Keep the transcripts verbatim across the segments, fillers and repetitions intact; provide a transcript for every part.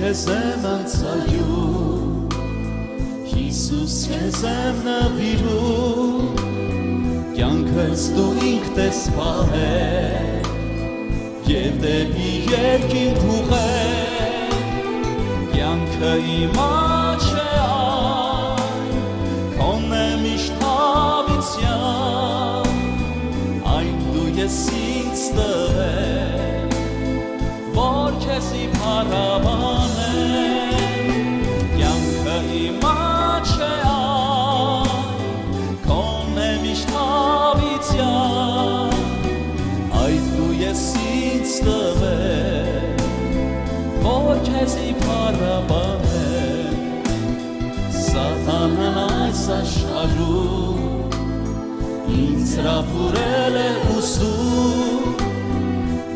քեզ եմ անցայում Հիսուս քեզ եմ նվիրում Կյանքս դու ինքդ ես պահել Եվ դեպի երկինք ուղղել Կյանքը իմ աչք է այն Քոնն է միշտ հավիտյան Այն դու ես ինձ տվել Որ քեզի փառաբանեմ Կյանքը իմ աչք է այն Քոնն է միշտ հավիտյան Այդ դու ես ինձ տվել Որ քեզի փառաբանեմ Սատանան այս աշխարհում Ինձ հրապուրել է ուսում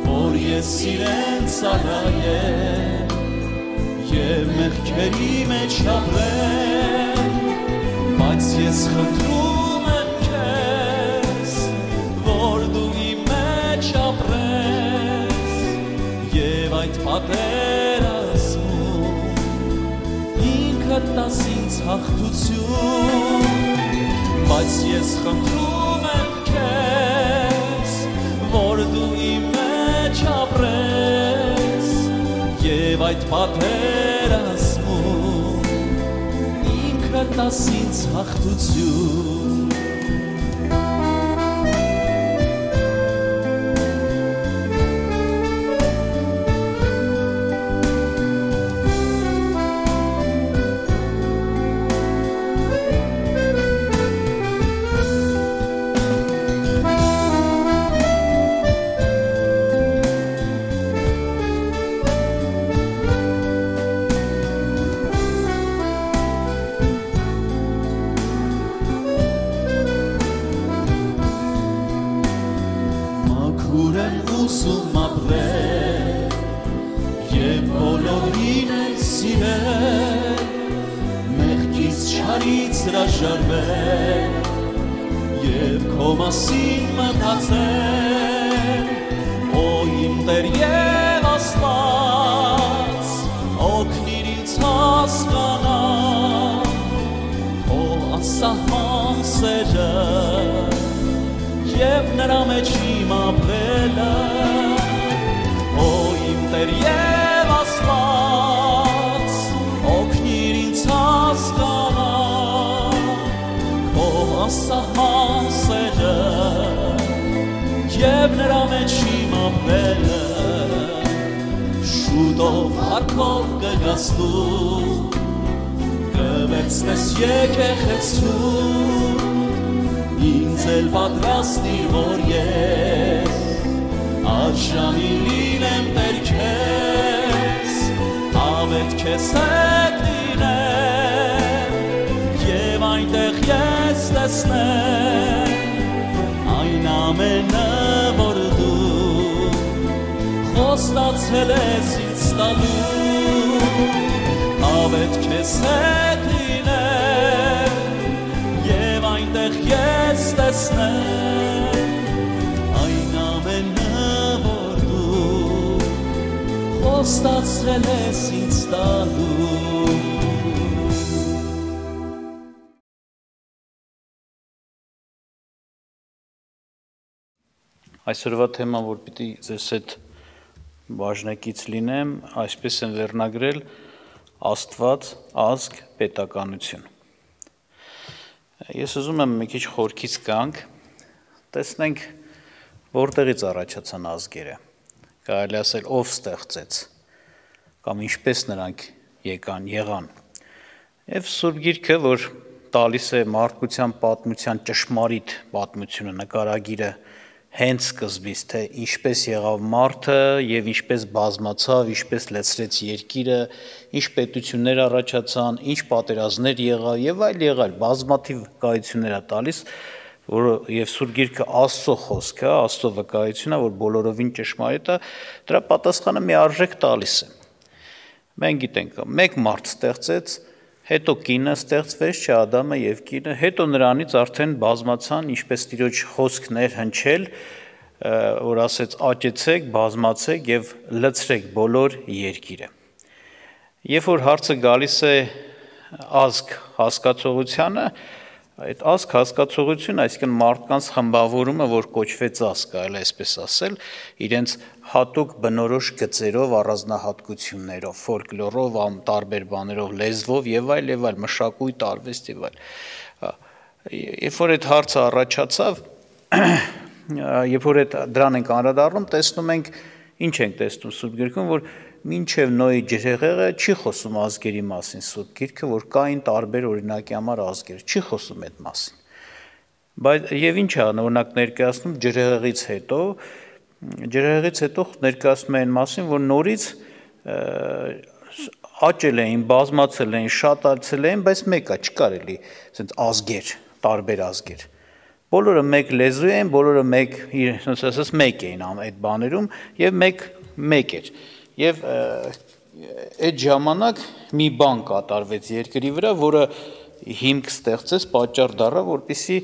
Որ ես իրեն ծառայեմ Եվ մեղքերի մեջ ապրեմ Բայց ես խնդրում եմ քեզ Որ դու իմ մեջ ապրես Եվ այդ պատերազմում Ինքդ տաս ինձ հաղթություն Բայց ես խնդրում եմ քեզ Որ դու իմ մեջ ապրես Եվ այդ պատերազմում Ինքդ տաս ինձ հաղթություն Ուսում ապրել Եվ բոլորին է սիրել Մեղքից չարից հրաժարվել Եվ քո մասին մտածել Օ իմ Տեր և Աստված Օգնիր ինձ հասկանալ Քո անսահման սերը Եվ նրա մեջ իմ ապրելը Օ իմ Տեր և Աստված Օգնիր ինձ հասկանալ Քո անսահման սերը Եվ նրա մեջ իմ ապրելը Շուտով հարկով կգաս դու Կվերցնես եկեղեցու Ինձ էլ պատրաստիր, որ ես Այժմին լինեմ Տեր քեզ Ավետ քեզ հետ լինեմ Եվ այնտեղ ես տեսնեմ Այն ամենը, որ դու Խոստացել ես ինձ տալու Ավետ քեզ հետ լինեմ Եվ այնտեղ ես տեսնեմ Այն ամենը, որ դու Խոստացել ես ինձ տալու Այսօրվա թեման, որ պիտի ձեզ հետ բաժնեկից լինեմ, այսպես են վերնագրել Աստված, ազգ, պետականություն Ես ուզում եմ մի քիչ խորքից գանք, տեսնենք որտեղից առաջացան ազգերը, կարելի ասել ով ստեղծեց, կամ ինչպես նրանք եկան, եղան։ Եվ Սուրբ Գիրքը, որ տալիս է մարդկության պատմության ճշմարիտ պատմությունը, նկարագիրը հենց սկզբից, թե ինչպես եղավ մարդը եւ ինչպես բազմացավ, ինչպես լեցրեց երկիրը, ինչ պետություններ առաջացան, ինչ պատերազմներ եղավ եւ այլ եղալ, բազմաթիվ վկայություններ է տալիս, որ եւ Սուրբ Գիրքը Աստծո խոսքը, Աստծո վկայությունն է, որ բոլորովին ճշմարիտ է, դրա պատասխանը մի արժեք տալիս է։ Մենք գիտենք, մեկ մարդ ստեղծեց, հետո կինը ստեղծվեց, չէ, Ադամը եւ կինը, հետո նրանից արդեն բազմացան, ինչպես Տիրոջ խոսքն էր հնչել, որ ասեց աճեցեք, բազմացեք եւ լցրեք բոլոր երկիրը։ Երբ որ հարցը գալիս է ազգ հասկացողությանը, այդ ազգ հասկացողությունը, այսինքն մարդկանց խմբավորումը, որ կոչվեց ազգ, այլ այսպես ասել, իրենց հատուկ բնորոշ գծերով, առանձնահատկություններով, ֆոլկլորով, տարբեր բաներով, լեզվով եւ այլ եւ այլ, մշակույթ, արվեստ եւ այլ։ Երբ որ այդ հարցը առաջացավ, երբ որ այդ դրան ենք անդրադառնում, տեսնում ենք, ինչ ենք տեսնում Սուրբ Գրքում, որ մինչև Նոյի ջրհեղեղը չի խոսում ազգերի մասին Սուրբ Գիրքը, որ կային տարբեր օրինակի համար ազգեր, չի խոսում այդ մասին։ Բայց եւ ինչ է օրինակ ներկայացնում ջրհեղեղից հետո, ջրհեղեղից հետո ներկայացնում է այն մասին, որ նորից աճել էին, բազմացել էին, շատացել էին, բայց մեկը չկար էլի, ասենց ազգեր, տարբեր ազգեր։ Բոլորը մեկ լեզու էին, բոլորը մեկ, ասես ասես մեկ էին այդ բաներում եւ մեկ մեկ էր։ Եվ այդ ժամանակ մի բան կատարվեց երկրի վրա, որը հիմք ստեղծեց, պատճառ դառավ, որպեսզի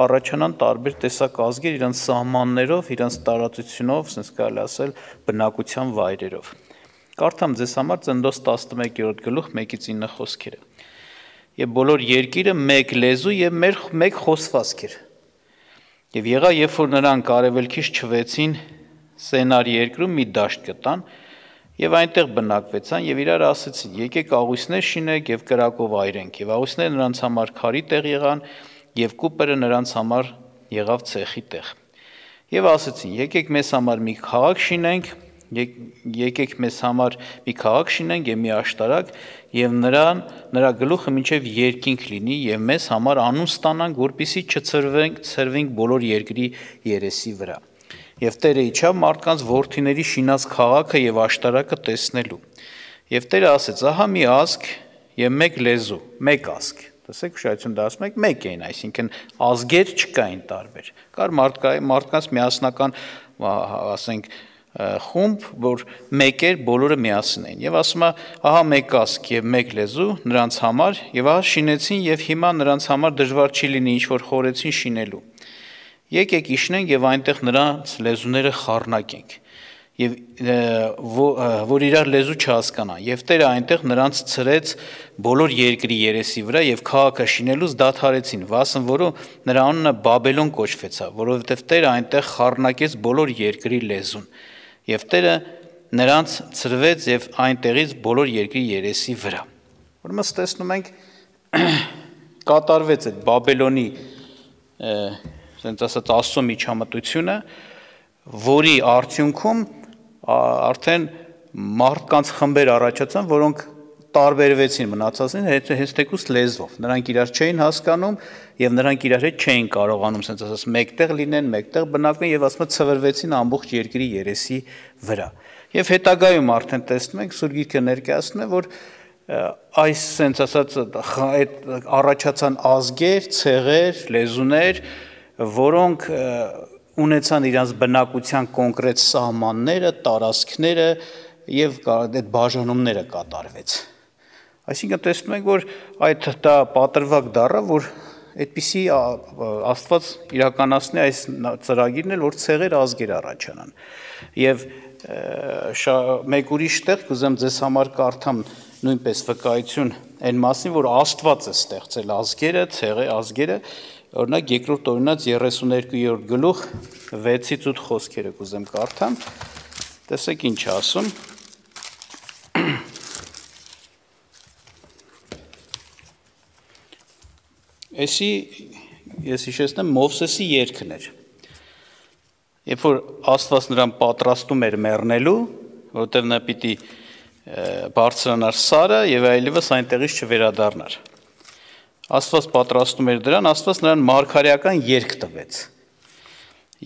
առաջանան տարբեր տեսակ ազգեր իրենց սահմաններով, իրենց տարածությունով, ասես կարելի ասել, բնակության վայրերով։ Կարդամ ձեզ համար Ծննդոց տասնմեկերորդ գլուխ մեկից ինը խոսքերը։ Եվ բոլոր երկիրը մեկ լեզու եւ մեկ խոսվածք էր։ Եվ եղա, երբ որ նրանք արևելքից չվեցին Սենար երկրում մի դաշտ գտան, եւ այնտեղ բնակվեցան եւ իրար ասեցին. եկեք աղույսներ շինենք եւ կրակով այրենք, եւ աղույսները նրանց համար քարի տեղ եղան, եւ կուպերը նրանց համար եղավ ցեխի տեղ։ Եվ ասեցին. եկեք մեզ համար մի քաղաք շինենք, եկեք մեզ համար մի քաղաք շինենք եւ մի աշտարակ, եւ նրան նրա գլուխը մինչեւ երկինք լինի եւ մեզ համար անուն ստանանք, որպեսզի չցրվենք, ցրվենք բոլոր երկրի երեսի վրա։ Եվ Տերը իջավ մարդկանց որդիների շինած քաղաքը եւ աշտարակը տեսնելու։ Եվ Տերը ասեց. ահա մի ազգ եւ մեկ լեզու, մեկ ազգ։ Տեսեք, ուշադրություն դասում եք, մեկ էին, այսինքն ազգեր չկային տարբեր։ Կար մարդկանց միասնական, ասենք, խումբ, որ մեկ էր, բոլորը միասին էին։ Եվ ասում է, ահա մեկ ազգ եւ մեկ լեզու նրանց համար, եւ ահա շինեցին եւ հիմա նրանց համար դժվար չի լինի ինչ որ խորեցին շինելու։ Եկեք իջնենք եւ այնտեղ նրանց լեզուները խառնակենք եւ որ իրար լեզու չհասկանան եւ Տերը այնտեղ նրանց ցրեց բոլոր երկրի երեսի վրա եւ քաղաքը շինելուց դադարեցին, վասն որը նրա անունը Բաբելոն կոչվեցավ, որովհետեւ Տերը այնտեղ խառնակեց բոլոր երկրի լեզուն եւ Տերը նրանց ցրվեց եւ այնտեղից բոլոր երկրի երեսի վրա։ Ուրեմն տեսնում ենք կատարվեց այդ Բաբելոնի ասենց ասած Աստծո միջամտությունը, որի արդյունքում արդեն մարդկանց խմբեր առաջացան, որոնք տարբերվեցին մնացածին հենց թեկուզ լեզվով։ Նրանք իրար չէին հասկանում եւ նրանք իրար հետ չէին կարողանում, ասենց ասած, մեկտեղ լինեն, մեկտեղ բնակվեն եւ ասում ցվրվեցին ամբողջ երկրի երեսի վրա։ Եվ հետագայում արդեն տեսնում ենք Սուրբ Գիրքը ներկայացնում է, որ այս ասենց ասած այդ առաջացան ազգեր, ցեղեր, լեզուներ, որոնք ունեցան իրենց բնակության կոնկրետ սահմանները, տարածքները եւ այդ բաժանումները կատարվեց։ Այսինքն տեսնում ենք, որ այդ դա պատրվակ դառավ, որ այդպիսի Աստված իրականացնի այս ծրագիրն էլ, որ ցեղեր ազգեր առաջանան։ Եվ մեկ ուրիշ տեղ կուզեմ ձեզ համար կարդամ նույնպես վկայություն այն մասին, որ Աստված է ստեղծել ազգերը, ցեղը, ազգերը, օրինակ երկրորդ օրինաց երեսուներկուերորդ գլուխ վեցից ութ խոսքերը կուզեմ կարդամ։ Տեսեք ինչ ասում։ Էսի ես հիշեցնեմ Մովսեսի երգն էր։ Երբ որ Աստված նրան պատրաստում էր մեռնելու, որտեղ նա պիտի բարձրանար Սարը եւ այլևս այնտեղից չվերադառնար։ Աստված պատրաստում էր դրան, Աստված նրան մարգարեական երգ տվեց։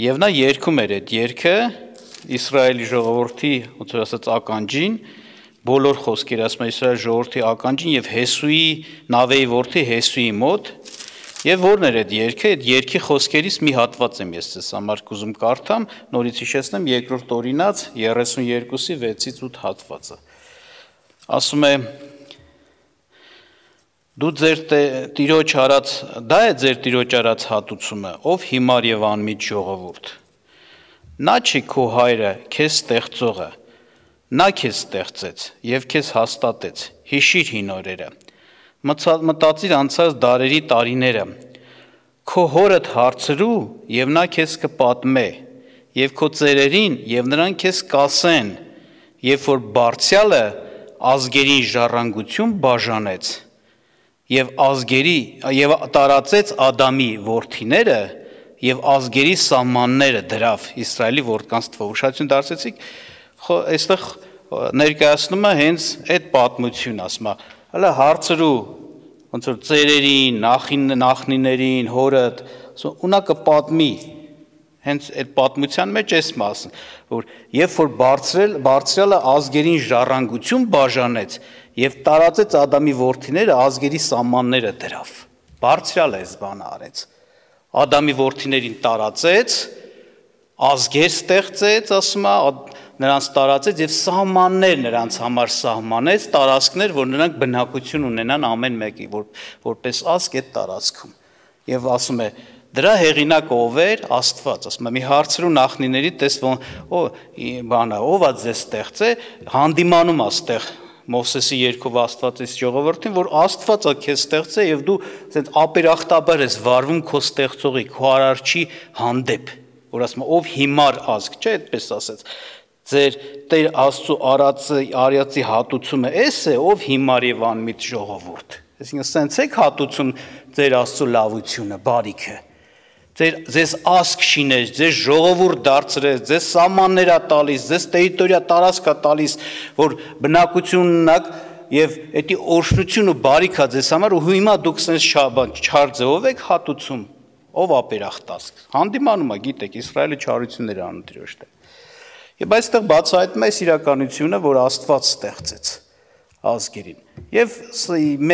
Եվ նա երգում էր այդ երգը Իսրայելի ժողովրդի, ոնց որ ասած, ականջին, բոլոր խոսքեր ասում է Իսրայելի ժողովրդի ականջին եւ Հեսուի Նավեի որդի Հեսուի մոտ, եւ որն էր այդ երգը, այդ երգի խոսքերից մի հատված եմ ես ձեզ համար կուզում կարդամ, նորից հիշեցնեմ երկրորդ օրինաց երեսունյոթի վեցից ութ հատվածը։ Ասում է. Դու ձեր տիրոջ արած, դա է ձեր տիրոջ արած հատուցումը, ով հիմար եւ անմիջ ժողովուրդ։ Նա չի քո հայրը, քեզ ստեղծողը, Նա քեզ ստեղծեց եւ քեզ հաստատեց, հիշիր հին օրերը, մտածիր անցած դարերի տարիները, քո հորդ հարցրու եւ նա քեզ կպատմե, եւ քո ծերերին եւ նրանք քեզ կասեն, երբ որ Բարձյալը ազգերին ժառանգություն բաժանեց եւ ազգերի եւ տարածեց Ադամի որդիները եւ ազգերի սահմանները դրավ Իսրայելի որդկանց թվով ուշադրություն դարձեցիք այստեղ ներկայացնում է հենց այդ պատմությունն ասում է հələ հարցրու ոնց որ ծերերին նախնիներին հորդ ունա կպատմի հենց այդ պատմության մեջ էս մասն որ երբ որ բարձրել բարձրյալը ազգերին ժառանգություն բաժանեց եւ տարածեց Ադամի որդիները ազգերի սահմանները դրավ բարձրյալը այս բանը արեց Ադամի որդիներին տարածեց ազգեր ստեղծեց ասում է նրանց տարածեց եւ սահմաններ նրանց համար սահմանեց տարածքներ որ նրանք բնակություն ունենան ամեն մեկի որ որպես ազգ այդ տարածքում եւ ասում է դրա հեղինակը ով էր Աստված ասում եմ մի հարցրու նախնիների տես ո բանը ով է ձեզ ստեղծե հանդիմանում է ստեղ Մովսեսի երկով Աստվածից ժողովրդին որ Աստվածը քեզ ստեղծե եւ դու ասենց ապերախտաբար ես վարվում քո ստեղծողի քո արարչի հանդեպ որ ասում ով հիմար ազգ չէ այդպես ասած ձեր Տեր Աստծո արածը արյացի հատուցումը էս է ով հիմար եւ անմիտ ժողովուրդ այսինքն սենց եք հատուցում ձեր Աստծո լավությունը բարիքը Ձեր ձեզ ազգ շինեց, ձեզ ժողովուրդ դարձրեց, ձեզ սահմաններ է տալիս, ձեզ տերիտորիա տարածք է տալիս, որ բնակություն ունենաք եւ էդի օրհնություն ու բարիք է ձեզ համար ու հիմա դուք sense չար ձևով եք հատուցում, ով ապերախտած։ Հանդիմանում է, գիտեք, Իսրայելը չարություններ անում Տիրոջ դեմ։ Եվ այստեղ բացահայտում է այս իրականությունը, որ Աստված ստեղծեց ազգերին։ Եվ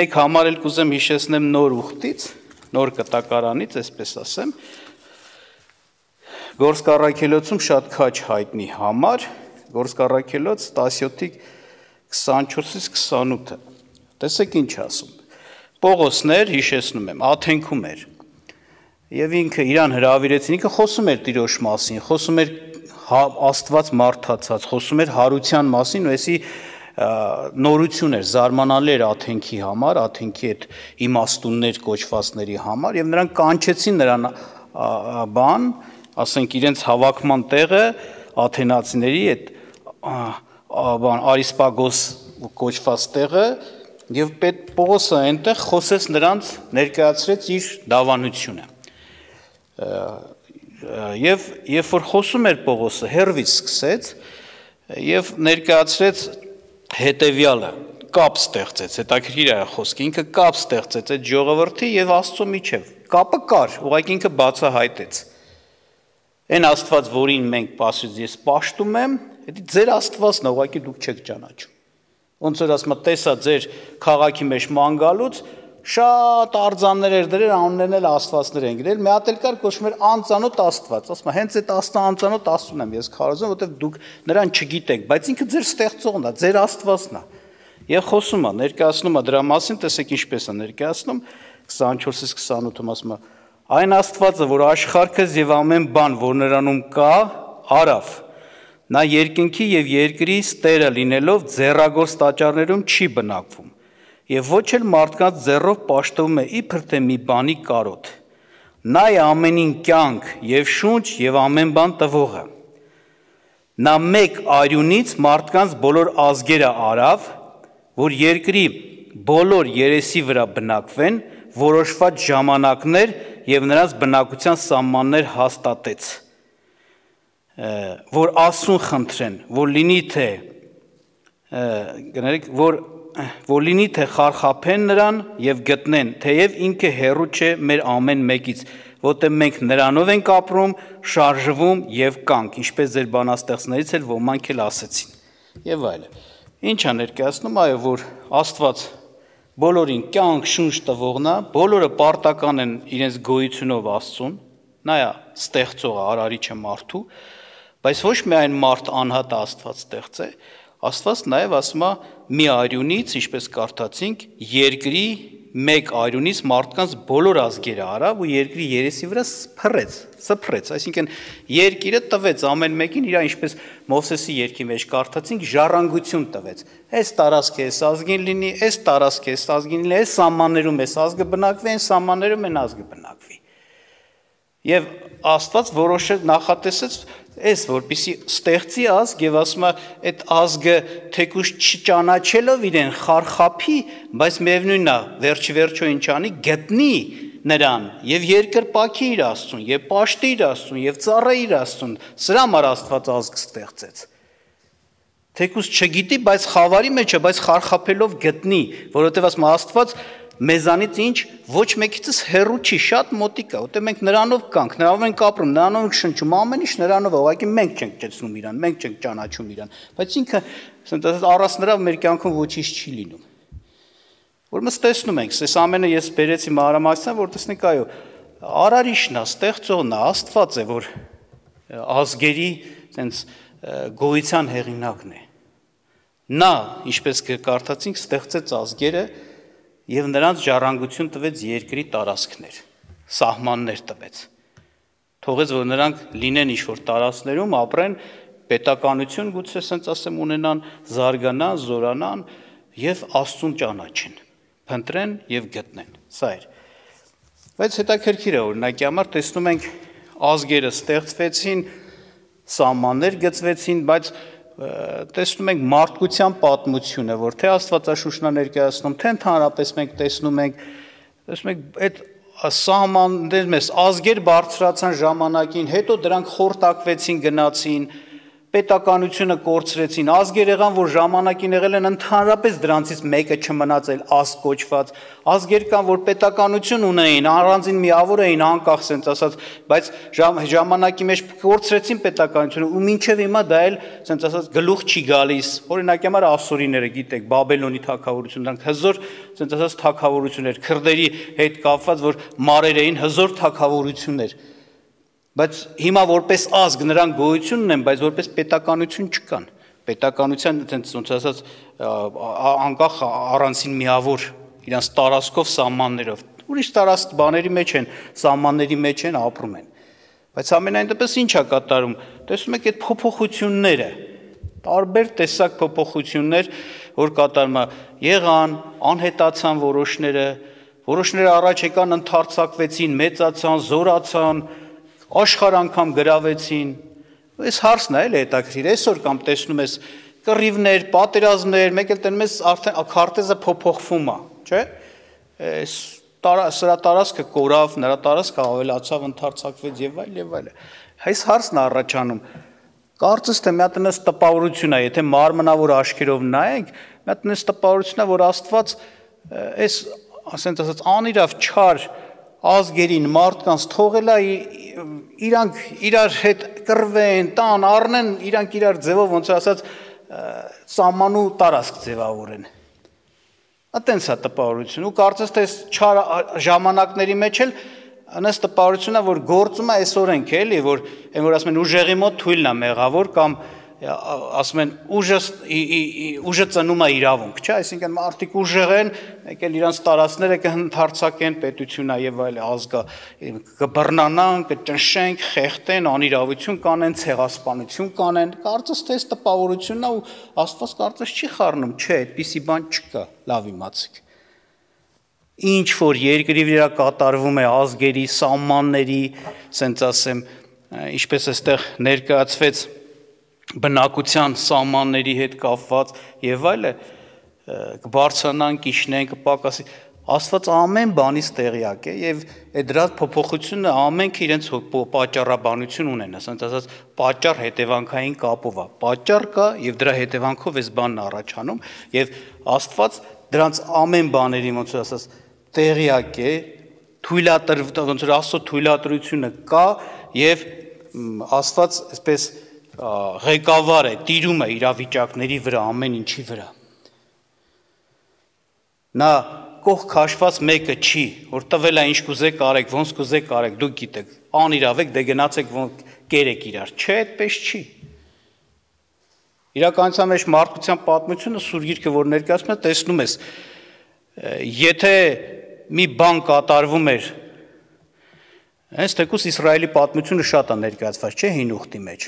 մեկ համար էլ կուզեմ հիշեցնեմ նոր ուխտից նոր կտակարանից, այսպես ասեմ, Գործք առաքելոցում շատ քաչ հայտնի համար, Գործք առաքելոց տասյոթի քսանչորսից քսանութը, տեսեք ինչ ասում, Պողոսներ, հիշեցնում եմ, Աթենքում էր, և ինքը իրան հրավիրեցին, ինքը խոսում էր Տիրոջ մասին, խոսում էր Աստված մարդացած, խոսում էր հարության մասին, ու էսի նորություն էր, զարմանալի էր Աթենքի համար, Աթենքի այդ իմաստուններ կոչվածների համար եւ նրանք կանչեցին նրան բան, ասենք իրենց հավաքման տեղը աթենացիների այդ բան Արիսպագոս կոչված տեղը եւ պետ Պողոսը այնտեղ խոսեց նրանց ներկայացրեց իր դավանությունը։ Եվ երբ որ խոսում էր Պողոսը, հերվից սկսեց եւ ներկայացրեց հետևյալը կապ ստեղծեց, հետաքրքիր է խոսքը, ինքը կապ ստեղծեց այդ ժողովրդի եւ Աստծո միջև։ Կապը կար, ուղղակի ինքը բացահայտեց։ Այն Աստված, որին մենք ասում ես պաշտում եմ, դա ձեր Աստվածն է, ուղղակի դուք չեք ճանաչում։ Ոնց որ ասում եմ, տեսա ձեր քաղաքի մեջ ման գալուց, շատ արձաններ էր դրել, անուններն էլ Աստվածներ են գրել, մի հատ էլ կար կոչվում էր անծանոթ Աստված, ասում եմ, հենց այդ անծանոթ Աստծուն եմ ես քարոզում, որովհետև դուք նրան չգիտեք, բայց ինքը ձեր ստեղծողն է, ձեր Աստվածն է։ Եվ խոսում է, ներկայացնում է դրա մասին, տեսեք ինչպես է ներկայացնում, քսանչորսից քսանութում ասում է, այն Աստվածը, որ աշխարհքս եւ ամեն բան, որ նրանում կա, արավ։ Նա երկնքի եւ երկրի Տերը լինելով ձեռագործ տաճարներում չի բնակվում։ Եվ ոչ էլ մարդկանց ձեռով պաշտվում է իբր թե մի բանի կարոտ։ Նա է ամենին կյանք եւ շունչ եւ ամեն բան տվողը։ Նա մեկ արյունից մարդկանց բոլոր ազգերը արավ, որ երկրի բոլոր երեսի վրա բնակվեն, որոշված ժամանակներ եւ նրանց բնակության սահմաններ հաստատեց։ Որ ասուն խնդրեն, որ լինի թե գներեք, որ որ լինի թե խարխափեն նրան եւ գտնեն, թեև ինքը հեռու չէ մեր ամեն մեկից, որտեղ մենք նրանով ենք ապրում, շարժվում եւ կանք, ինչպես ձեր բանաստեղծներից էլ ոմանք էլ ասեցին։ Եվ այլն։ Ինչ է ներկայացնում, այո, որ Աստված բոլորին կյանք շունչ տվողն է, բոլորը պարտական են իրենց գոյությունով Աստծուն, նա է ստեղծողը, արարիչը մարդու, բայց ոչ միայն մարդ անհատ Աստված ստեղծ է, Աստված նաև ասում է մի արյունից, ինչպես կարդացինք, երկրի մեկ այրունից մարդկանց բոլոր ազգերը արավ ու երկրի երեսի վրա փռեց, սփռեց, այսինքն երկիրը տվեց ամեն մեկին իր ինչպես Մովսեսի երգի մեջ կարդացինք ժառանգություն տվեց։ Այս տարածքը էս ազգին լինի, այս տարածքը էս ազգին լինի, այս սահմաններում էս ազգը բնակվի, այն սահմաններում այն ազգը բնակվի։ Եվ Աստված որոշը նախատեսեց այս որպեսի ստեղծի ազգ եւ ասում է այդ ազգը թեկուզ չճանաչելով իրեն խարխափի, բայց միևնույնն է վերջի վերջո ինչ անի գտնի նրան եւ երկրպագի իր Աստծուն եւ պաշտի իր Աստծուն եւ ծառայի իր Աստծուն, սրա համար Աստված ազգ ստեղծեց։ Թեկուզ չգիտի, բայց խավարի մեջ է, բայց խարխափելով գտնի, որովհետեւ ասում Աստված մեզանից ինչ ոչ մեկիցս հեռու չի, շատ մոտիկ է, որտեղ մենք նրանով կանք, նրանով ենք ապրում, նրանով ենք շնչում, ամեն ինչ նրանով է, ուղղակի մենք չենք ճեցնում իրան, մենք չենք ճանաչում իրան, բայց ինքը, ասենք, առանց նրա մեր կյանքում ոչինչ չի լինում։ Որմս տեսնում ենք, այս ամենը ես բերեցի մանրամասն, որ տեսնենք, այո, արարիչն է, ստեղծողն է, Աստված է, որ ազգերի, ասենց, գոյության հեղինակն է։ Նա, ինչպես կարդացինք, ստեղծեց ազգերը և նրանց ժառանգություն տվեց երկրի տարածքներ, սահմաններ տվեց, թողեց, որ նրանք լինեն ինչ-որ տարածքներում, ապրեն, պետականություն գուցե սենց ասեմ ունենան, զարգանան, զորանան և Աստծուն ճանաչեն, փնտրեն և գտնեն, սա էր։ Բայց հետաքրքիր է օրինակի համար տեսնում ենք ազգերը ստեղծվեցին, սահմաններ գծվեցին, բայց տեսնում ենք մարդկության պատմությունը, որ թե Աստվածաշունչն է ներկայացնում, թե ընդհանրապես մենք տեսնում ենք, տեսնում ենք այդ սահմաններ մեզ ազգեր բարձրացան ժամանակին, հետո դրանք խորտակվեցին, գնացին, պետականությունը կորցրեցին, ազգեր եղան, որ ժամանակին եղել են ընդհանրապես դրանցից մեկը չմնացել ազգ կոչված, ազգեր կան, որ պետականություն ունեին, առանձին միավոր էին, անկախ սենց ասած, բայց ժամանակի մեջ կորցրեցին պետականությունը ու մինչև հիմա դա էլ սենց ասած գլուխ չի գալիս, օրինակի համար ասորիները գիտեք, Բաբելոնի թագավորություն, դրանք հզոր սենց ասած թագավորություններ, քրդերի հետ կապված, որ մարեր էին, հզոր թագավորություններ։ Բայց հիմա որպես ազգ նրանք գոյություն ունեն, բայց որպես պետականություն չկան, պետականության ոնց ասած անկախ առանցին միավոր իրանց տարածքով սահմաններով, ուրիշ տարածք բաների մեջ են, սահմանների մեջ են, ապրում են, բայց ամենայն դեպս ինչ է կատարում, տեսնում եք այդ փոփոխությունները, տարբեր տեսակ փոփոխություններ, որ կատարում է, եղան, անհետացան որոշները, որոշները առաջ եկան, ընդարձակվեցին, մեծացան, զորացան, աշխարհ անգամ գրավեցին, այս հարցն է էլ հետաքրքիր, այսօր կամ տեսնում ես կռիվներ, պատերազմներ, մեկ էլ տենում ես արդեն քարտեզը փոփոխվում է, չէ՞, սրա տարածքը կորավ, նրա տարածքը ավելացավ, ընդարձակվեց եւ այլ եւ այլ։ Այս հարցն է առաջանում, կարծես թե մի հատ այնպես տպավորություն է, եթե մարմնավոր աչքերով նայենք, մի հատ այնպես տպավորություն է, որ Աստված այս ասենք ասած անիրավ չար ազգերին մարդկանց թողել է իրանք իրար հետ կռվեն, տան, առնեն, իրանք իրար ձևով ոնց ասած սահմանու տարածք ձևավորեն։ Այտենց է տպավորություն ու կարծես թե չար ժամանակների մեջ էլ այնպես տպավորություն է, որ գործում է այս օրենք էլի, որ այն որ ասում են ուժեղի մոտ թույլն է մեղավոր կամ ասում են ուժը ուժը ծնում է իրավունք, չէ՞, այսինքն մարդիկ ուժեղ են, մեկ էլ իրանց տարածքները կընդարձակեն պետությունա եւ այլ ազգա, կբռնանան, կճնշեն, խեղդեն, անիրավություն կանեն, ցեղասպանություն կանեն, կարծես թե այս տպավորությունն է ու Աստված կարծես չի խառնում, չէ, այդպիսի բան չկա, լավ իմացեք։ Ինչ որ երկրի վրա կատարվում է ազգերի, սահմանների, ասենց ասեմ, ինչպես այստեղ ներկայացվեց բնակության սահմանների հետ կապված եւ այլը կբարձրանան, կիջնեն, կպակասի, Աստված ամեն բանից տեղյակ է եւ այդ դրա փոփոխությունը ամենքը իրենց պատճառաբանություն ունեն, ասենք ասած պատճառ հետևանքային կապով է, պատճառ կա եւ դրա հետևանքով էս բանն առաջանում եւ Աստված դրանց ամեն բաների ոնց ասած տեղյակ է, թույլատրվում, ոնց որ Աստծո թույլատրությունը կա եւ Աստված այսպես ղեկավար է, տիրում է իրավիճակների վրա, ամեն ինչի վրա։ Նա կողք քաշված մեկը չի, որ տվել է ինչ կուզեք արեք, ոնց կուզեք արեք, դուք գիտեք, անիրավ եք, դե գնացեք կերեք իրար, չէ, այդպես չի։ Իրականության մեջ մարդկության պատմությունը Սուրբ Գիրքը, որ ներկայացնում է, տեսնում ես, եթե մի բան կատարվում էր, հենց թեկուզ Իսրայելի պատմությունը շատ է ներկայացված, չէ, հին ուխտի մեջ։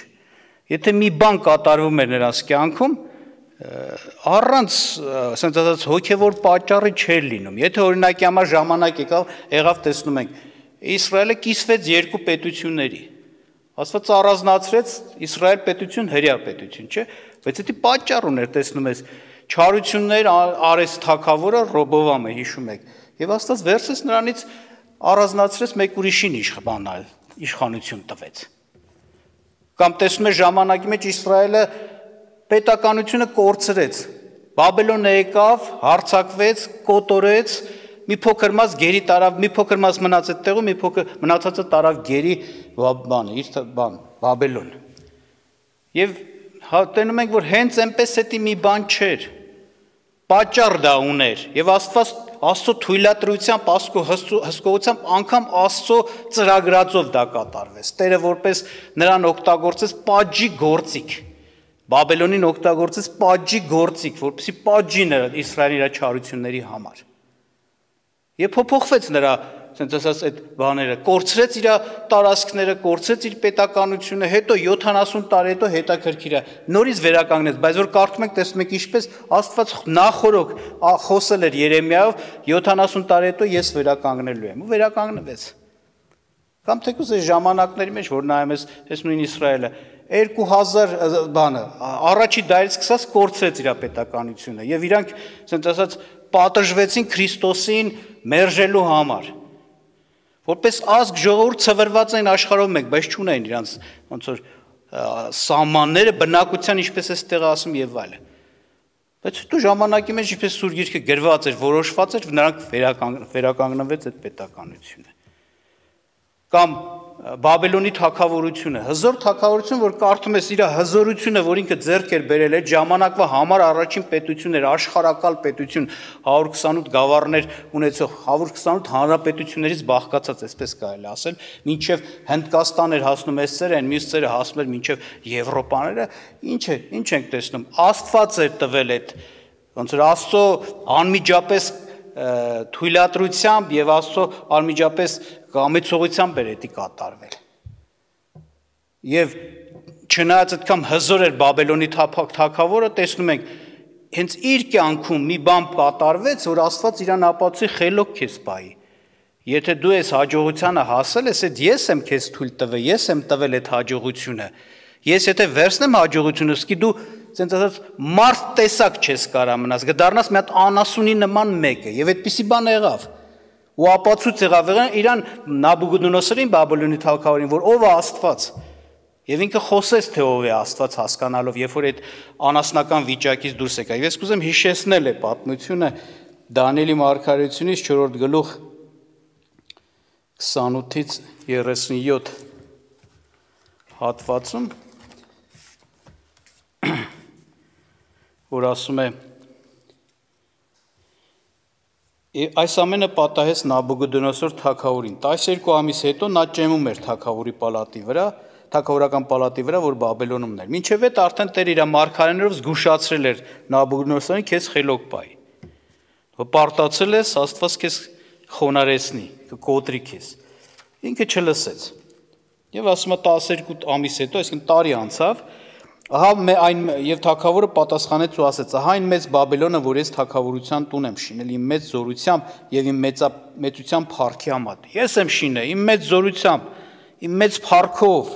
Եթե մի բան կատարվում էր նրանց կյանքում, առանց ասենք ասած հոգևոր պատճառի չէր լինում։ Եթե օրինակի համար ժամանակ եկավ, եղավ տեսնում ենք, Իսրայելը կիսվեց երկու պետությունների։ Աստված առանձնացրեց Իսրայել պետություն, հրեա պետություն, չէ՞, բայց դա պատճառ ուներ, տեսնում ես, չարություններ արեց թագավորը Ռոբովամը, հիշում եք, եւ Աստված վերցրեց նրանից առանձնացրեց մեկ ուրիշին իշխանալ, իշխանություն տվեց։ Կամ տեսնում ես ժամանակի մեջ Իսրայելը պետականությունը կորցրեց, Բաբելոնը եկավ, հարձակվեց, կոտորեց, մի փոքր մաս գերի տարավ, մի փոքր մաս մնաց այդ տեղում, մի փոքր մնացածը տարավ գերի բանը, իր բան, Բաբելոն։ Եվ տենում ենք, որ հենց այնպես էդի մի բան չէր, պատճառ դա ուներ, եւ Աստված Աստծո թույլատրությամբ, Աստծո հսկողությամբ անգամ Աստծո ծրագրածով դա կատարվեց։ Տերը որպես նրան օգտագործեց պատժի գործիք, Բաբելոնին օգտագործեց պատժի գործիք, որպեսզի պատժի նրա Իսրայելի իր չարությունների համար։ Եվ փոփոխվեց նրա, ասենց ասած, այդ բաները, կորցրեց իր տարածքները, կորցրեց իր պետականությունը, հետո յոթանասուն տարի հետո հետաքրքիր է, նորից վերականգնեց, բայց որ կարդում ենք, տեսնում եք ինչպես Աստված նախորոք խոսել էր Երեմիայով, յոթանասուն տարի հետո ես վերականգնելու եմ, ու վերականգնվեց։ Կամ թեկուզ այս ժամանակների մեջ, որ նայում ես, այս նույն Իսրայելը, երկու հազար բանը, առաջի դարից սկսած կորցրեց իր պետականությունը, եւ իրանք, ասենց ասած, պատժվեցին Քրիստոսին մերժելու համար։ Որպես ազգ ժողովուրդ ցվրված են աշխարհով մեկ, բայց չունեն իրանց ոնց որ սահմանները, բնակության, ինչպես է ստեղ ասում եւ այլը։ Բայց դու ժամանակի մեջ ինչպես սուր գիրքը գրված էր, որոշված էր, նրանք վերականգնվեց այդ պետականությունը։ Կամ Բաբելոնի թագավորությունը, հզոր թագավորություն, որ կարդում ես իր հզորությունը, որ ինքը ձեռք էր բերել, այդ ժամանակվա համար առաջին պետություն էր, աշխարհակալ պետություն, հարյուր քսանութ գավառներ ունեցող, հարյուր քսանութ հանրապետություններից բաղկացած, այսպես կարելի ասել, մինչև Հնդկաստան էր հասնում այս ծերը, այն մյուս ծերը հասնում էր մինչև Եվրոպաները, ինչ է, ինչ ենք տեսնում, Աստված էր տվել այդ, ոնց որ Աստծո անմիջապես թույլատրությամբ եւ Աստծո անմիջապես կամեցողությամբ էր դա կատարվել։ Եվ չնայած այդքան հզոր էր Բաբելոնի թագավորը, տեսնում ենք, հենց իր կյանքում մի բան կատարվեց, որ Աստված իրան ապացուցի խելոք քեզ պայի։ Եթե դու ես հաջողությանը հասել ես, այդ ես եմ քեզ թույլ տվել, ես եմ տվել այդ հաջողությունը։ Ես եթե վերցնեմ հաջողությունը, սկի դու ասենց ասած մարդ տեսակ չես կարա մնաս, կդառնաս մի հատ անասունի նման մեկը, եւ այդպիսի բան եղավ։ Ու ապացույց եղավ իրան Նաբուգոդոնոսորին, Բաբելոնի թագավորին, որ ով է Աստված։ Եվ ինքը խոսեց, թե ով է Աստված հասկանալով, երբ որ այդ անասնական վիճակից դուրս եկավ։ Ես կուզեմ հիշեցնել է պատմությունը Դանիելի մարգարեությունից չորրորդ գլուխ քսանութից երեսունյոթ հատվածում, որ ասում է. այս ամենը պատահեց Նաբուգոդոնոսոր թագավորին։ տասներկու ամիս հետո նա ճեմում էր թագավորի պալատի վրա, թագավորական պալատի վրա, որ Բաբելոնում էր։ Մինչև այդ արդեն Տեր իր մարգարեներով զգուշացրել էր Նաբուգոդոնոսորին, քեզ խելոք պայի։ Պարտացել ես, Աստված քեզ խոնարհեցնի, կկոտրի քեզ։ Ինքը չլսեց։ Եվ ասում է տասներկու ամիս հետո, այսինքն տարի անցավ, ահա այն եւ թագավորը պատասխանեց ու ասեց. ահա այն մեծ Բաբելոնը, որ ես թագավորության տուն եմ շինել իմ մեծ զորությամբ եւ իմ մեծության փառքի համար։ Ես եմ շինել իմ մեծ զորությամբ, իմ մեծ փառքով։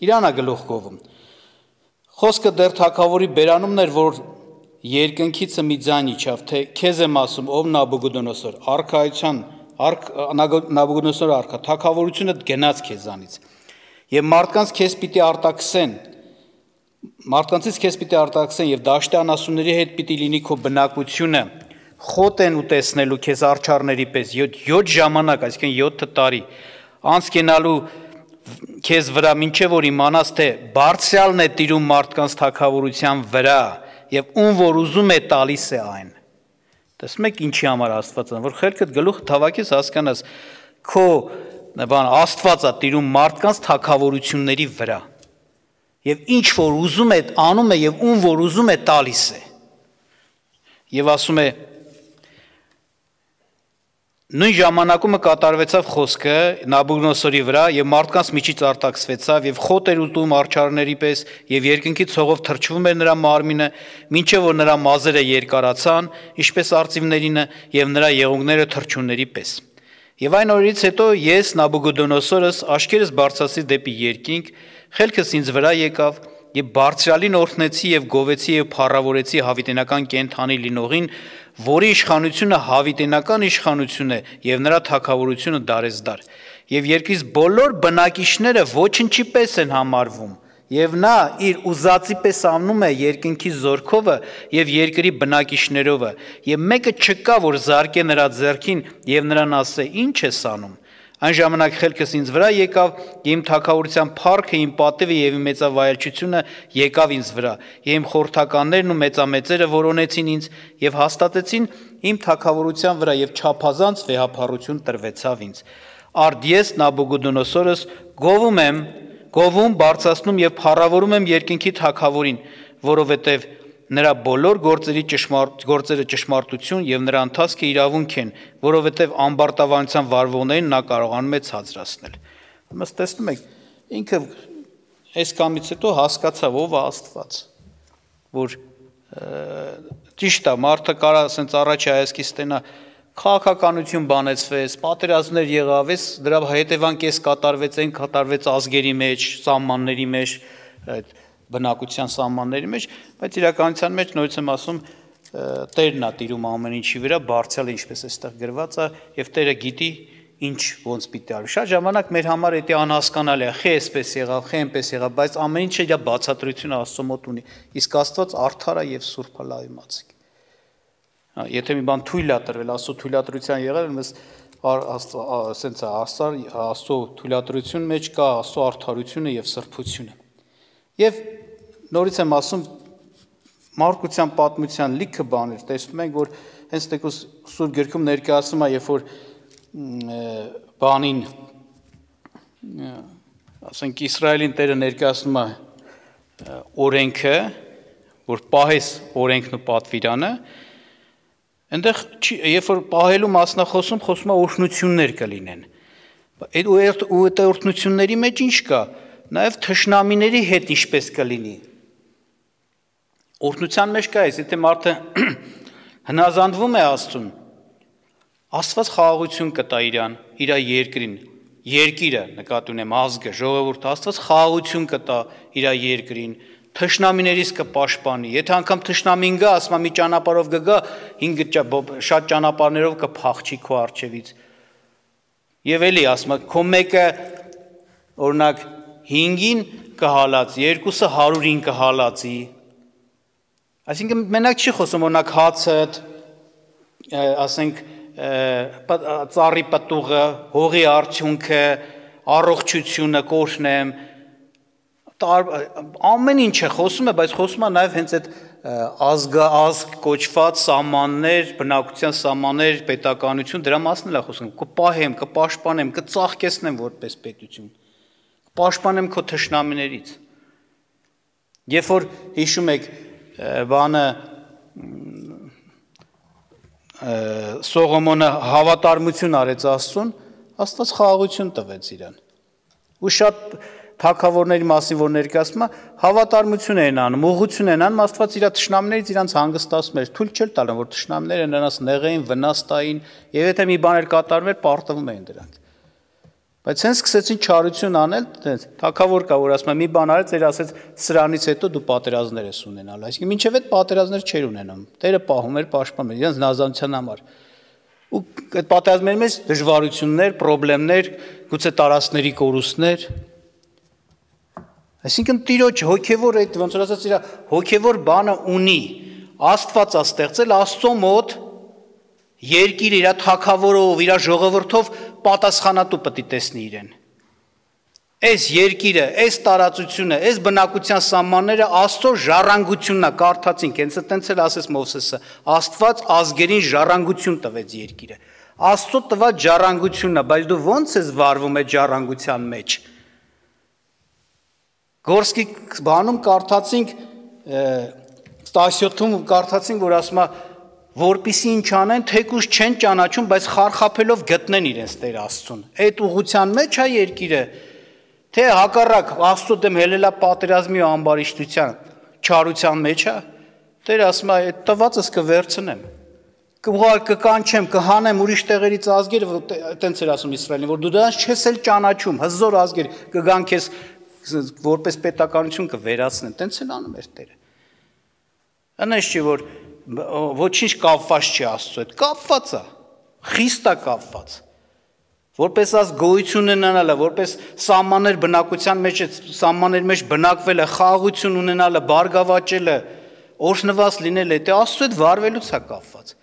Իրանա գլուխ կովում։ Խոսքը դեռ թագավորի բերանումն էր, որ երկնքիցը մի ձայն իջավ, թե քեզ եմ ասում, ով Նաբուգոդոնոսոր, արքայության, Նաբուգոդոնոսոր արքա, թագավորությունը գնաց քեզանից։ Եվ մարդկանց քեզ պիտի արտաքսեն, մարդկանցից քեզ պիտի արտաքսեն եւ դաշտի անասունների հետ պիտի լինի քո բնակությունը, խոտ են ուտեսնելու քեզ արչարների պես յոթ ժամանակ, այսինքն յոթ տարի, անց կենալու քեզ վրա, մինչև որ իմանաս, թե բարձրալն է տիրում մարդկանց թագավորության վրա եւ ում որ ուզում է տալիս է այն։ Տեսնում եք ինչի համար Աստվածը, որ խելքդ գլուխ թավակես հասկանաս, քո բան Աստվածը տիրում մարդկանց թագավորությունների վրա։ Եվ ինչ որ ուզում է անում է եւ ում որ ուզում է տալիս է։ Եվ ասում է Նույն ժամանակում կատարվեցավ խոսքը Նաբուգդոնոսորի վրա եւ մարդկանց միջից արտաքսվեցավ եւ խոտ էր ուտում արչարների պես եւ երկնքի ցողով թրջվում էր նրա մարմինը, մինչեւ որ նրա մազերը երկարացան, ինչպես արծիվներինը եւ նրա եղունգները թրջունների պես։ Եվ այն օրից հետո ես Նաբուգդոնոսորս աշկերս բարձրացի դեպի երկինք, խելքս ինձ վրա եկավ եւ բարձրալին օրհնեցի եւ գովեցի եւ փառավորեցի հավիտենական կենթանի լինողին, որի իշխանությունը հավիտենական իշխանություն է եւ նրա թագավորությունը դարեզդար եւ երկրից բոլոր բնակիչները ոչնչի պես են համարվում եւ նա իր ուզածի պես անում է երկնքի զորքովը եւ երկրի բնակիչներովը եւ մեկը չկա որ զարկե նրա ձեռքին եւ նրան ասե ինչ ես անում այն ժամանակ խելքս ինձ վրա եկավ իմ թագավորության փառքը իմ պատիվը եւ իմ մեծավայելչությունը եկավ ինձ վրա եւ իմ խորհրդականներն ու մեծամեծերը որոնեցին ինձ եւ հաստատեցին իմ թագավորության վրա եւ չափազանց վեհափառություն տրվեցավ ինձ արդ ես Նաբուգդոնոսորս գովում եմ գովում բարձրացնում եւ փառավորում եմ երկնքի թագավորին որովհետեւ նրա բոլոր գործերի ճշմարտ գործերը ճշմարտություն եւ նրա ընթացքը իրավունք են, որովհետեւ ամբարտավանության վարվողներին նա կարողանում է ցածրացնել։ Ըստ տեսնում եք, ինքը այս կամից հետո հասկացավ ով է Աստված, որ ճիշտ է, մարդը կարա ասենց առաջ հայացքից տենա քաղաքականություն բանեցվեց, պատերազմներ եղավ, այս դրա հետևանք էս կատարվեց, այն կատարվեց ազգերի մեջ, սահմանների մեջ, այդ բնակության սահմանների մեջ, բայց իրականության մեջ նորից եմ ասում Տերն է տիրում ամեն ինչի վրա, բարձրալ ինչպես էստեղ գրված է եւ Տերը գիտի ինչ ոնց պիտի արի։ Շատ ժամանակ մեր համար դա անհասկանալի է, խե էսպես եղավ, խե այնպես եղավ, բայց ամեն ինչը իր բացատրությունը Աստծո մոտ ունի։ Իսկ Աստված արդար է եւ սուրբ է լայմացիկ։ Եթե մի բան թույլ է տրվել, Աստծո թույլատրության եղել, մեզ ասենց է, Աստծո թույլատրություն մեջ կա Աստծո արդարությունը եւ սրբությունը։ Եվ նորից եմ ասում մարգության պատմության լիքը բաներ տեսնում ենք, որ հենց տեկուս Սուրբ Գրքում ներկայացնում է, երբ որ բանին ասենք Իսրայելին Տերը ներկայացնում է օրենքը, որ պահես օրենքն ու պատվիրանը, այնտեղ երբ որ պահելու մասնախոսում խոսում է օրհնություններ կլինեն։ Այդ ու այդ օրհնությունների մեջ ինչ կա։ Նաև թշնամիների հետ ինչպես կլինի։ Օրհնության մեջ կա այս, եթե մարդը հնազանդվում է Աստծուն, Աստված խաղաղություն կտա իրան, իր երկրին, երկիրը, նկատի ունեմ ազգը, ժողովուրդը, Աստված խաղաղություն կտա իր երկրին, թշնամիներից կպաշտպանի։ Եթե անգամ թշնամին գա, ասում է մի ճանապարհով կգա, հինգ շատ ճանապարհներով կփախչի քո առջևից։ Եվ էլի ասում է, քո մեկը օրինակ հինգին կհալածի, երկուսը հարուրին կհալածի։ Այսինքն մենակ չի խոսում օրինակ հացը, ասենք ծառի պտուղը, հողի արդյունքը, առողջությունը կօրհնեմ, ամեն ինչ է խոսում է, բայց խոսում է նաև հենց այդ ազգ կոչված սահմաններ, բնակության սահմաններ, պետականություն, դրա մասն էլ է խոսում, կպահեմ, կպաշտպանեմ, կծաղկեցնեմ որպես պետություն, կպաշտպանեմ քո թշնամիներից։ Երբ որ հիշում եք բանը Սողոմոնը հավատարմություն արեց Աստծուն, Աստված խաղաղություն տվեց իրան։ Ու շատ թագավորների մասին որ ներկայացնում է, հավատարմություն են անում, ուղղություն են անում, Աստված իր թշնամիներից իրանց հանգստացում էր, թույլ չէր տալու, որ թշնամիները նրանց նեղեին, վնաս տային, եւ եթե մի բան էր կատարվում էր, պարտվում էին դրանք։ Բայց հենց սկսեցին չարություն անել, թագավոր կա, որ ասում է մի բան արեց, էր ասեց սրանից հետո դու պատերազմներ ես ունենալ, այսինքն մինչև այդ պատերազմներ չէր ունենում։ Տերը պահում էր, պաշտպանում էր իրենց նազանության համար։ Ու այդ պատերազմների մեջ դժվարություններ, խնդիրներ, գուցե տարածքների կորուստներ։ Այսինքն Տիրոջ հոգևոր այդ ոնց որ ասած իր հոգևոր բանը ունի, Աստված է ստեղծել Աստծո մոտ երկիր իր թագավորով, իր ժողովրդով պատասխանատու պետք է տեսնի իրեն։ Այս երկիրը, այս տարածությունը, այս բնակության սահմանները Աստծո ժառանգությունն է, կարդացինք, հենց այդտենց էլ ասեց Մովսեսը, Աստված ազգերին ժառանգություն տվեց երկիրը։ Աստծո տված ժառանգությունն է, բայց դու ո՞նց ես վարվում այդ ժառանգության մեջ։ Գորսկի բանում կարդացինք տասյոթում կարդացինք, որ ասում է որպիսի ինչ անեն, թեկուզ չեն ճանաչում, բայց խարխափելով գտնեն իրենց Տեր Աստծուն։ Այդ ուղղության մեջ է երկիրը, թե հակառակ Աստծո դեմ հելելա պատերազմի ու ամբարիշտության, չարության մեջ է, Տեր ասում է, այդ տվածս կվերցնեմ, կուղար կկանչեմ, կհանեմ ուրիշ տեղերից ազգեր, այտենց էր ասում Իսրայելին, որ դու դրանց չես էլ ճանաչում, հզոր ազգեր կգան քեզ որպես պետականություն կվերացնեն, տենց էլ անում էր Տերը։ Անես չի, որ ոչինչ կապված չի Աստծո հետ, կապված է, խիստ է կապված, որպես ազ գոյություն ունենալը, որպես սահմաններ բնակության մեջ, սահմաններ մեջ բնակվելը, խաղաղություն ունենալը, բարգավաճելը, օրհնված լինելը, դա Աստծո հետ վարվելուց է կապված։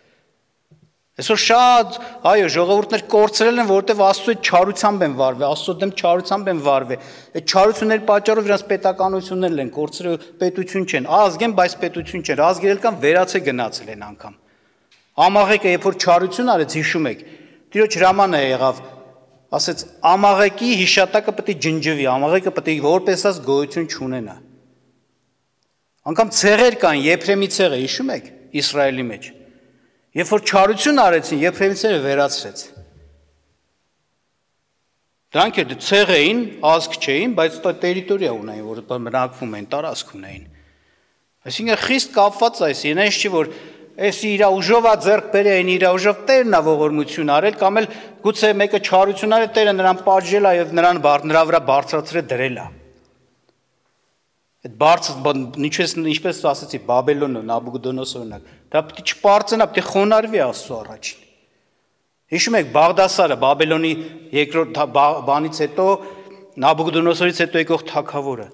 Այսօր շատ, այո, ժողովուրդներ կորցրել են, որովհետև Աստծո հետ չարությամբ են վարվել, Աստծո դեմ չարությամբ են վարվել։ Այդ չարությունների պատճառով իրանց պետականություններն են կորցրել, պետություն չեն, ազգ են, բայց պետություն չեն, ազգերել կան վերացե գնացել են անգամ։ Ամաղեկը երբ որ չարություն արեց, հիշում եք, Տիրոջ հրամանը եղավ, ասեց ամաղեկի հիշատակը պետք է ջնջվի, ամաղեկը պետք է որպես աս գոյություն չունենա։ Անգամ ցեղեր կան, Եփրեմի ցեղը, հիշում եք, Իսրայելի մեջ։ Երբ որ չարություն արեցին, Եփրեմիցերը վերացրեց։ Դրանք էլ ցեղ էին, ազգ չէին, բայց տերիտորիա ունեին, որ բնակվում էին, տարածք ունեին։ Այսինքն խիստ կապված այս, ինձ չի որ այս իր ուժով է ձեռք բերել, իր ուժով Տերն է ողորմություն արել, կամ էլ գուցե մեկը չարություն արել, Տերը նրան պատժել է եւ նրան նրա վրա բարձրացրել դրել է։ Այդ բարձր ինչպես ինչպես ասացի Բաբելոնը, Նաբուկոդոնոսորը, դա պետք է չպարծենա, պետք է խոնարհվի Աստծո առաջին։ Հիշում եք Բաղդասարը, Բաբելոնի երկրորդ բանից հետո Նաբուկոդոնոսորից հետո եկող թագավորը,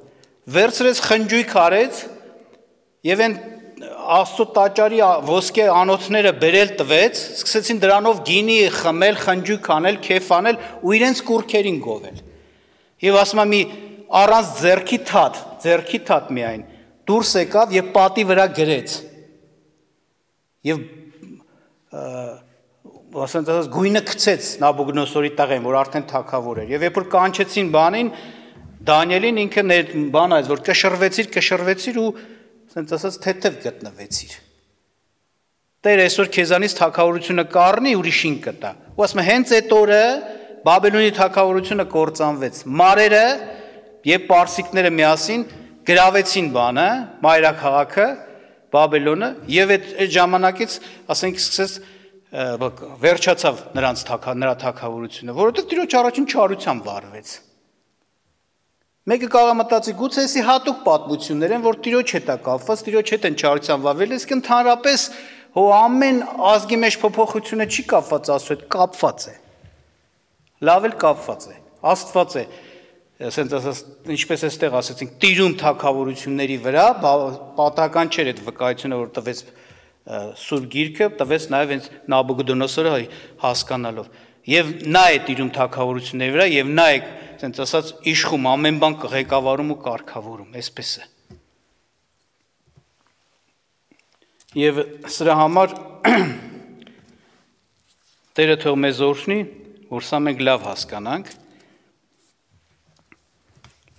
վերցրեց խնջույք արեց եւ այն Աստծո տաճարի ոսկե անոթները բերել տվեց, սկսեցին դրանով գինի խմել, խնջույք անել, քեֆ անել ու իրենց կուրքերին գովել։ Եվ ասում եմ մի առանց ձեռքի թաթ, ձեռքի թաթ միայն դուրս եկավ եւ պատի վրա գրեց։ Եվ ասենք ասած գույնը գցեց Նաբուկոդոնոսորի տղեն, որ արդեն թագավոր էր։ Եվ երբ որ կանչեցին բանին, Դանիելին ինքը բան այս որ կշռվեցիր, կշռվեցիր ու ասենք ասած թեթև գտնվեցիր։ Տեր այսօր քեզանից թագավորությունը կառնի, ուրիշին կտա։ Ու ասում է հենց այդ օրը Բաբելոնի թագավորությունը կործանվեց։ Մարերը եւ պարսիկները միասին գրավեցին բանը, մայրաքաղաքը, Բաբելոնը, եւ այդ ժամանակից, ասենք, սկսեց վերջացավ նրանց նրա թագավորությունը, որովհետեւ Տիրոջ առաջին չարությամբ վարվեց։ Մեկը կարող մտածի, գուցե էսի հատուկ պատմություններ են, որ Տիրոջ հետ է կապված, Տիրոջ հետ են չարությամբ վարվել, իսկ ընդհանրապես հո ամեն ազգի մեջ փոփոխությունը չի կապված Աստծո հետ, կապված է։ Լավ էլ կապված է, Աստված է։ Ասենց ասած ինչպես էստեղ ասեցինք տիրում թագավորությունների վրա պատահական չէր այդ վկայությունը որ տվեց Սուրբ Գիրքը տվեց նաև հենց Նաբուկոդոնոսորը հասկանալով եւ նա է տիրում թագավորությունների վրա եւ նա է ասենց ասած իշխում ամեն բան ղեկավարում ու կարգավորում այսպես է եւ սրա համար Տերը թող մեզ օրհնի որ սա մենք լավ հասկանանք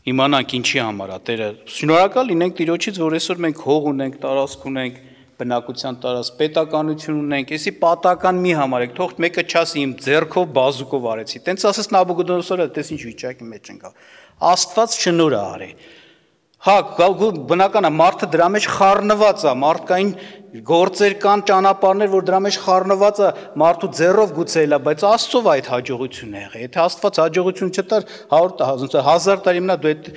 Իմանանք ինչի համար է Տերը շնորհակալ լինենք Տիրոջից որ այսօր մենք հող ունենք, տարածք ունենք, բնակության տարածք, պետականություն ունենք, էսի պատական մի համարեք, թող մեկը չասի իմ ձեռքով բազուկով արեցի։ Տենց ասես Նաբուկոդոնոսորը, տես ինչ վիճակի մեջ ընկավ։ Աստված շնորհ է արել։ Հա, բնական է մարդը դրա մեջ խառնված է, մարդկային գործեր կան, ճանապարհներ, որ դրա մեջ խառնված է, մարդու ձեռով գուցե էլա, բայց Աստծով այդ հաջողությունը եղել։ Եթե Աստված հաջողություն չտար, հազար տարի մնա դու այդ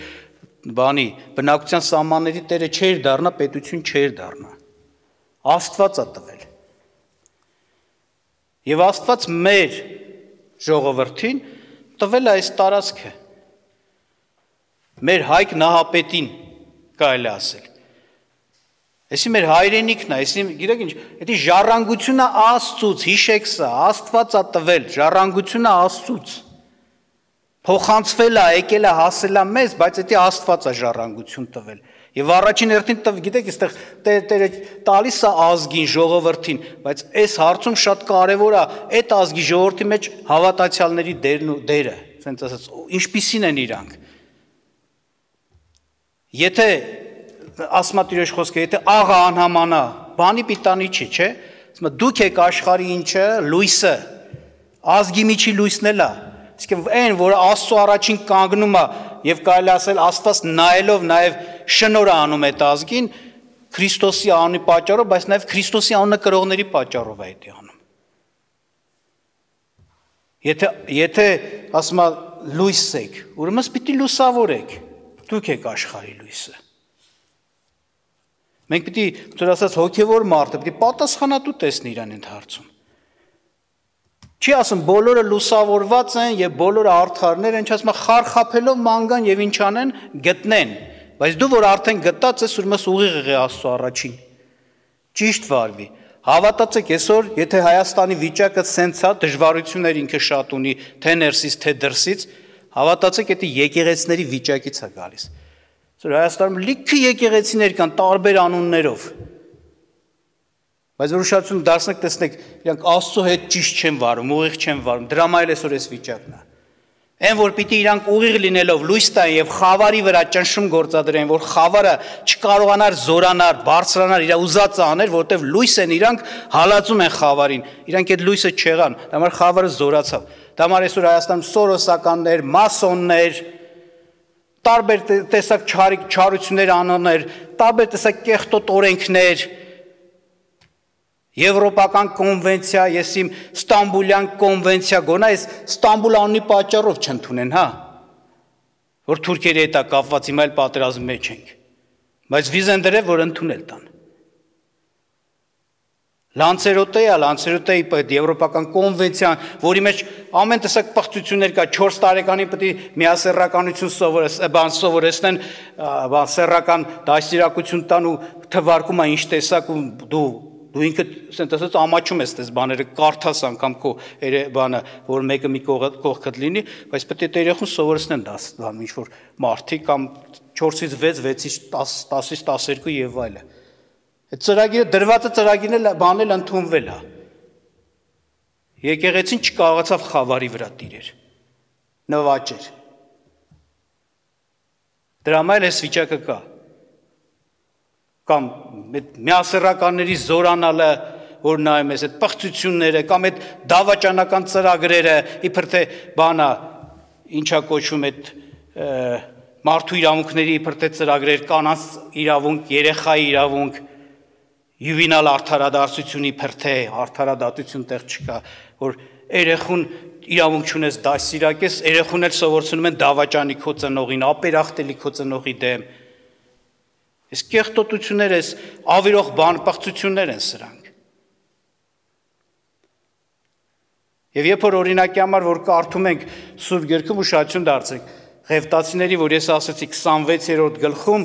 բանի բնակության սահմանների տերը չէր դառնա, պետություն չէր դառնա։ Աստված է տվել։ Եվ Աստված մեր ժողովրդին տվել է այս տարածքը։ Մեր Հայկ Նահապետին կարելի ասել։ Այսի մեր հայրենիքն է, այսի գիտեք ինչ, դա ժառանգությունը Աստծուց, հիշեք սա, Աստված է տվել, ժառանգությունը Աստծուց։ Փոխանցվել է, եկել է, հասել է մեզ, բայց դա Աստված է ժառանգություն տվել։ Եվ առաջին հերթին տվ, գիտեք, այստեղ Տերը տալիս է ազգին, ժողովրդին, բայց այս հարցում շատ կարևոր է այդ ազգի ժողովրդի մեջ հավատացյալների դերն ու դերը, ասենց ասած, ինչպիսին են իրանք։ Եթե ասմա Տիրոջ խոսքը, եթե աղը անհամանա, բանի պիտանի չի, չէ, ասում է դուք եք աշխարհի ինչը, լույսը, ազգի միջի լույսն էլ է, իսկ այն, որը Աստծո առաջին կանգնում է եւ կարելի ասել Աստված նայելով նաեւ շնորհ անում այդ ազգին, Քրիստոսի անունի պատճառով, բայց նաեւ Քրիստոսի անունը կրողների պատճառով է դա անում։ Եթե եթե ասում է լույս եք, ուրեմն պիտի լուսավորեք, դուք եք աշխարհի լույսը։ Մենք պիտի, որ ասած հոգևոր մարդը պիտի պատասխանատու տեսնի իրան այդ հարցում։ Չի ասում բոլորը լուսավորված են եւ բոլորը արդարներ են, չասում խարխափելով ման գան եւ ինչ անեն, գտնեն, բայց դու որ արդեն գտած ես, ուրեմն ուղիղ եղե Աստծո առաջին։ Ճիշտ վարվի։ Հավատացեք, այսօր, եթե Հայաստանի վիճակը սենց է, դժվարություններ ինքը շատ ունի, թե ներսից, թե դրսից, հավատացեք, դա եկեղեցիների վիճակից է գալիս։ Այսօր Հայաստանում լիքը եկեղեցիներ կան տարբեր անուններով։ Բայց որ ուշադրություն դարձնեք, տեսնեք, իրանք Աստծո հետ ճիշտ չեն վարում, ուղիղ չեն վարում, դրա համար այսօր այս վիճակն է։ Այն որ պիտի իրանք ուղիղ լինելով լույս տան եւ խավարի վրա ճնշում գործադրեն, որ խավարը չկարողանար զորանալ, բարձրանալ, իր ուզածը աներ, որտեվ լույս են իրանք հալածում են խավարին։ Իրանք այդ լույսը չեղան, դա համար խավարը զորացավ։ Դա համար այսօր Հայաստանում սորոսականներ, մասոններ, տարբեր տեսակ չարիք չարություններ անոններ, տարբեր տեսակ կեղտոտ օրենքներ, Եվրոպական կոնվենցիա, ես իմ Ստամբուլյան կոնվենցիա գոնա, այս Ստամբուլ անունի պատճառով չընդունեն, հա, որ թուրքերի հետ է կապված, հիմա էլ պատերազմի մեջ ենք, բայց վիզ են դրել, որ ընդունել տան։ Լանցերոտեյա, Լանցերոտեյի այդ Եվրոպական կոնվենցիան, որի մեջ ամեն տեսակ պղծություններ կա, չորս տարեկանին պետք է միասեռականություն սովորեցնեն, բան սեռական դաստիարակություն տան ու թվարկում է ինչ տեսակ ու դու Դու ինքդ ասած ամաչում ես այս բաները կարդաս անգամ քո բանը, որ մեկը մի կողքդ լինի, բայց պետք է երեխուն սովորեցնեն դա ինչ որ մարդիկ կամ չորսից վեց, վեցից տաս, տասից տասներկու եւ այլը։ Այդ ծրագիրը դրվածը ծրագիրն էլ բանել ընդունվել է։ Եկեղեցին չկարողացավ խավարի վրա տիրեր։ Նվաճեր։ Դրա համար այս վիճակը կա։ Կամ միասեռականների զորանալը, որ նայում ես, այդ պղծությունները, կամ այդ դավաճանական ծրագրերը, իբր թե բանա, ինչա կոչվում այդ մարդու իրավունքների իբր թե ծրագրեր, կանանց իրավունք, երեխայի իրավունք, յուվենալ արդարադարձություն իբր թե արդարադատություն տեղ չկա, որ երեխուն իրավունք չունես դաստիարակես, երեխուն էլ սովորեցնում են դավաճանի քո ծնողին, ապերախտելի քո ծնողի դեմ։ Այս կեղտոտությունները, այս ավիրող բանպղծություններ են սրանք։ Եվ երբ որ օրինակի համար, որ կարդում ենք Սուրբ Գրքում, ուշադրություն դարձրեք, Ղևտացիների, որ ես ասացի քսանվեցերորդ գլխում,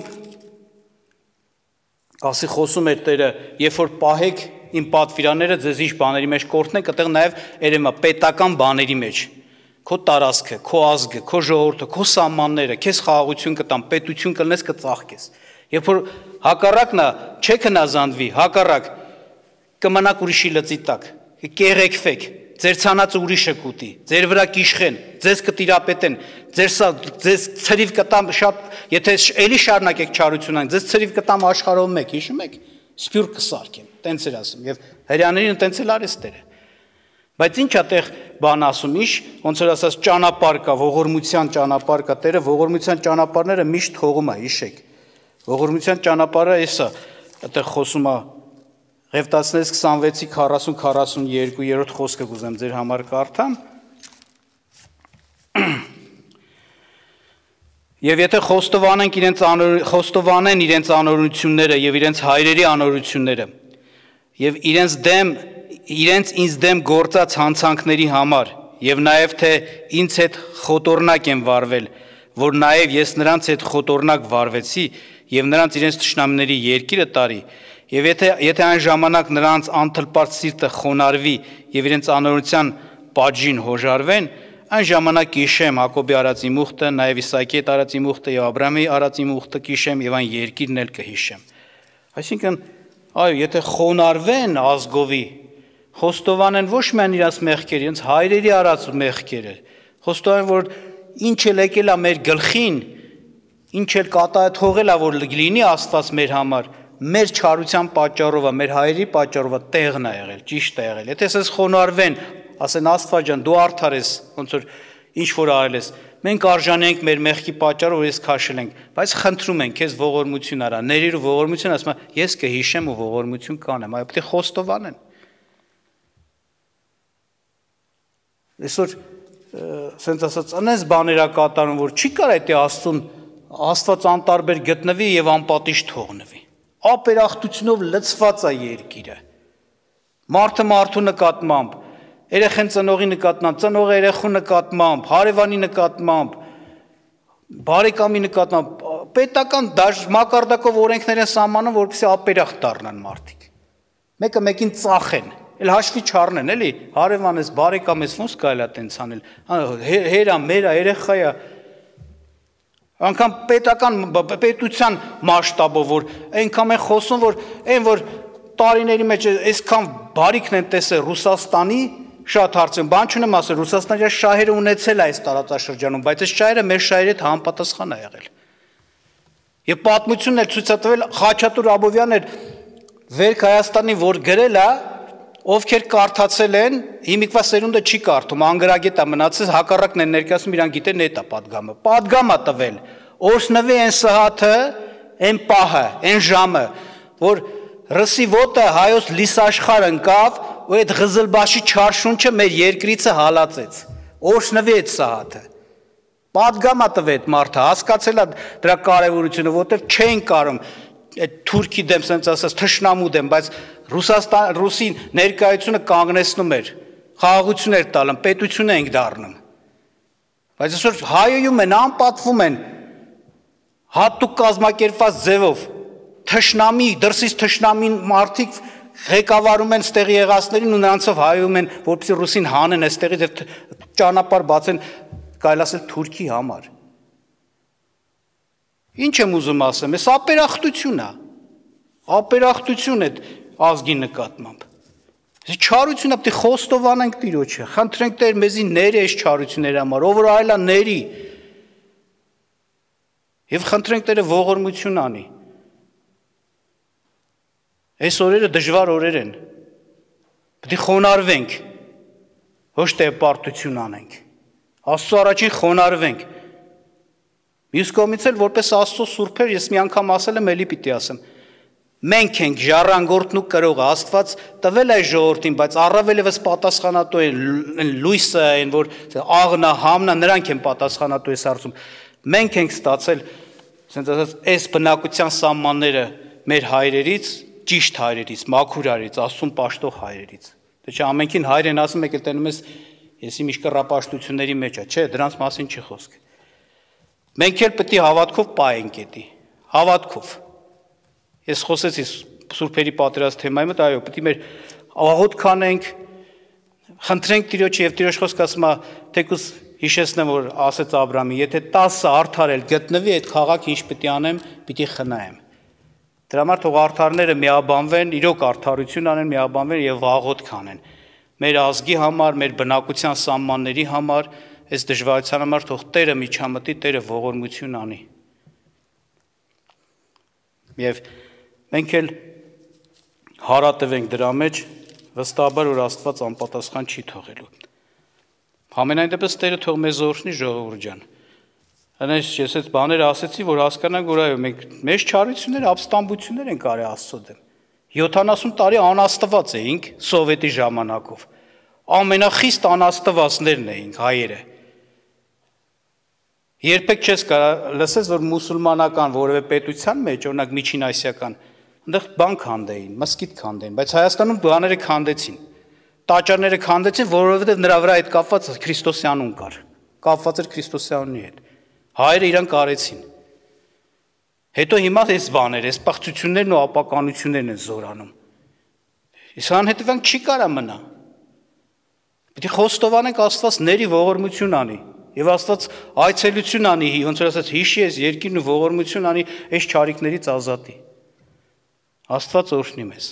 ասի խոսում էր Տերը, երբ որ պահեք իմ պատվիրանները ձեզ ինչ բաների մեջ կորտնեք, այդտեղ նաև երեմա պետական բաների մեջ, քո տարածքը, քո ազգը, քո ժողովուրդը, քո սահմանները, քեզ խաղաղություն կտան, պետություն կլնես, կծաղկես։ Երբ որ հակառակն է, չեք հնազանդվի, հակառակ կմնաք ուրիշի լծի տակ, կեղեքվեք, ձեր ցանածը ուրիշը կուտի, ձեր վրա կիշխեն, ձեզ կտիրապետեն, ձեր ձեզ ցրիվ կտամ շատ, եթե էլի շարունակեք չարություն ան, ձեզ ցրիվ կտամ աշխարհով մեկ, հիշում եք, սփյուռք կսարքեմ, տենց էր ասում, եւ հрьяաներին տենց էլ արեց Տերը։ Բայց ինչ է տեղ բան ասում, իշ, ոնց որ ասած ճանապարհ կա, ողորմության ճանապարհ կա, Տերը ողորմության ճանապարհները միշտ թողում է, հիշեք։ Ողորմության ճանապարհը էսա, այդտեղ խոսում է Ղևտացիներից քսանվեցի քառասուն քառասունյոթ խոսքը կուզեմ ձեր համար կարդամ։ Եվ եթե խոստովանենք իրենց խոստովանեն իրենց անօրությունները եւ իրենց հայրերի անօրությունները եւ իրենց դեմ իրենց ինձ դեմ գործած հանցանքների համար եւ նաեւ թե ինձ հետ խոտորնակ են վարվել, որ նաեւ ես նրանց հետ խոտորնակ վարվեցի եւ նրանց իրենց թշնամիների երկիրը տարի, եւ եթե եթե այն ժամանակ նրանց անթլպարտ սիրտը խոնարհվի եւ իրենց անօրության պատժին հոժարվեն, այն ժամանակ կիշեմ Հակոբի արածի մուխտը, նաեւ Իսահակի հետ արածի մուխտը եւ Աբրահամի արածի մուխտը կիշեմ եւ այն երկիրն էլ կհիշեմ։ Այսինքն, այո, եթե խոնարհվեն ազգովի, խոստովանեն ոչ միայն իրաց մեղքերը, իրենց հայրերի արած մեղքերը, խոստովանեն, որ ինչ էլ եկել է մեր գլխին, ինչ էլ կատա թողել է, որ լինի Աստված մեր համար, մեր չարության պատճառով, մեր հայերի պատճառով տեղն է եղել, ճիշտ է եղել։ Եթե ասես խոնարհվեն, ասեն Աստված ջան, դու արդար ես, ոնց որ ինչ որ արել ես, մենք արժանի ենք մեր մեղքի պատճառով, որ ես քաշել ենք, բայց խնդրում ենք քեզ ողորմություն արա, ներիր ու ողորմություն, ասում եմ, ես կհիշեմ ու ողորմություն կանեմ, այո, պետք է խոստովանեն։ Այսօր սենց ասած անես բաներ կատարում, որ չի կարա այդ Աստծուն Աստված անտարբեր գտնվի եւ անպատիժ թողնվի։ Ապերախտությունով լցված է երկիրը։ Մարդը մարդու նկատմամբ, երեխեն ծնողի նկատմամբ, ծնողը երեխու նկատմամբ, հարևանի նկատմամբ, բարեկամի նկատմամբ, պետական դաշ մակարդակով օրենքներ են սահմանում, որպեսզի ապերախտ դառնան մարդիկ։ Մեկը մեկին ծախեն, էլ հաշվի չառնեն, էլի, հարևան ես, բարեկամ ես, ոնց կարելի է տենց անել։ Հերա, մերա, երեխայա, անգամ պետական պետության մասշտաբով, որ այնքան են խոսում, որ այն որ տարիների մեջ այսքան բարիքն են տեսել Ռուսաստանի, շատ հարցն, բան չունեմ ասել, Ռուսաստանը իր շահերը ունեցել է այս տարածաշրջանում, բայց այս շահերը մեր շահերի հետ համապատասխան է եղել։ Եվ պատմությունն էր ցույց տվել Խաչատուր Աբովյանն էր Վերք Հայաստանի, որ գրել է, ովքեր կարդացել են, հիմիկվա սերունդը չի կարդում, անգրագետ է մնացել, հակառակն են ներկայացնում, իրան գիտեն էդ է պատգամը։ Պատգամ է տվել, օրհնվի այն սահաթը, այն պահը, այն ժամը, որ ռսի ոտը հայոց լիսաշխար ընկավ, ու այդ Ղզլբաշի չար շունչը մեր երկրիցը հալածեց։ Օրհնվի այդ սահաթը։ Պատգամ է տվել այդ մարդը, հասկացել է դրա կարևորությունը, որտեղ չէին կարող այդ թուրքի դեմ, ասենց ասած, թշնամու դեմ, բայց Ռուսաստան, Ռուսի ներկայությունը կանգնեցնում էր, խաղաղություն էր տալում, պետություն ենք դառնում։ Բայց այսօր հայոյում են, անպատվում են, հատուկ կազմակերպված ձևով, թշնամի, դրսից թշնամին մարդիկ ղեկավարում են ստեղի եղածներին ու նրանցով հայոյում են, որպեսզի Ռուսին հանեն այստեղից եւ ճանապարհ բացեն, կարելի ասել Թուրքի համար։ Ինչ եմ ուզում ասեմ, այս ապերախտություն է, ապերախտություն է ազգի նկատմամբ։ Չարությունը պետք է խոստովանենք Տիրոջը, խնդրենք Տեր մեզի ների այս չարությունների համար, ով որ այլա ների։ Եվ խնդրենք Տերը ողորմություն անի։ Այս օրերը դժվար օրեր են։ Պետք է խոնարհվենք, ոչ թե պարտություն անենք։ Աստծո առաջին խոնարհվենք։ Մյուս կողմից էլ որպես Աստծո սուրբեր ես մի անգամ ասել եմ, էլի պիտի ասեմ։ Մենք ենք ժառանգորդն ու կրողը, Աստված տվել է ժողովրդին, բայց առավել եւս պատասխանատու են լույսը, այն որ աղնա, համնա, նրանք են պատասխանատու այս հարցում։ Մենք ենք ստացել, ասենց ասած, այս բնակության սահմանները մեր հայրերից, ճիշտ հայրերից, մաքուր հայրերից, Աստծուն պաշտող հայրերից։ Դե չէ ամենքին հայր են ասում, եկել տենում ես, եսի միշտ կռապաշտությունների մեջ է, չէ, դրանց մասին չի խոսք։ Մենք էլ պետք է հավատքով պայենք էդի, հավատքով։ Ես խոսեցի Սուրբերի պատերազմ թեմայի մոտ, այո, պետք է մեր աղոթք կանենք, խնդրենք Տիրոջը եւ Տիրոջ խոսքը ասում է, թեկուզ հիշեցնեմ, որ ասեց Աբրահամին, եթե տասը արդար էլ գտնվի, այդ քաղաքը ինչ պետք է անեմ, պիտի խնայեմ։ Դրա համար թող արդարները միաբանվեն, իրոք արդարություն անեն, միաբանվեն եւ աղոթք անեն։ Մեր ազգի համար, մեր բնակության սահմանների համար, այս դժվարության համար թող Տերը միջամտի, Տերը ողորմություն անի։ Եվ մենք էլ հարատևենք դրա մեջ, վստահաբար որ Աստված անպատասխան չի թողելու։ Համենայն դեպս Տերը թող մեզ օրհնի, ժողովուրդ ջան։ Այնպես ես այդ բաները ասեցի, որ հասկանանք, որ այո, մենք մեծ չարություններ, ապստամբություններ ենք արել Աստծո դեմ։ յոթանասուն տարի անաստված էինք սովետի ժամանակով։ Ամենախիստ անաստվածներն էինք հայերը։ Երբեք չես կարող լսես, որ մուսուլմանական որևէ պետության մեջ, օրինակ միջին ասիական, այնտեղ բան քանդեին, մսկիթ քանդեին, բայց Հայաստանում բաները քանդեցին։ Տաճարները քանդեցին, որովհետև նրա վրա այդ կապված Քրիստոսի անուն կար։ Կապված էր Քրիստոսի անունի հետ։ Հայերը իրան կարեցին։ Հետո հիմա այս բաները, այս պղծություններն ու ապականություններն են զորանում։ Իսկ անհետևանք չի կարա մնա։ Պետք է խոստովանենք Աստված ների ողորմություն անի։ Եվ Աստված այցելություն անի, ոնց որ ասած հիշի ես երկիրն ու ողորմություն անի այս չարիքներից ազատի։ Աստված օրհնի մեզ։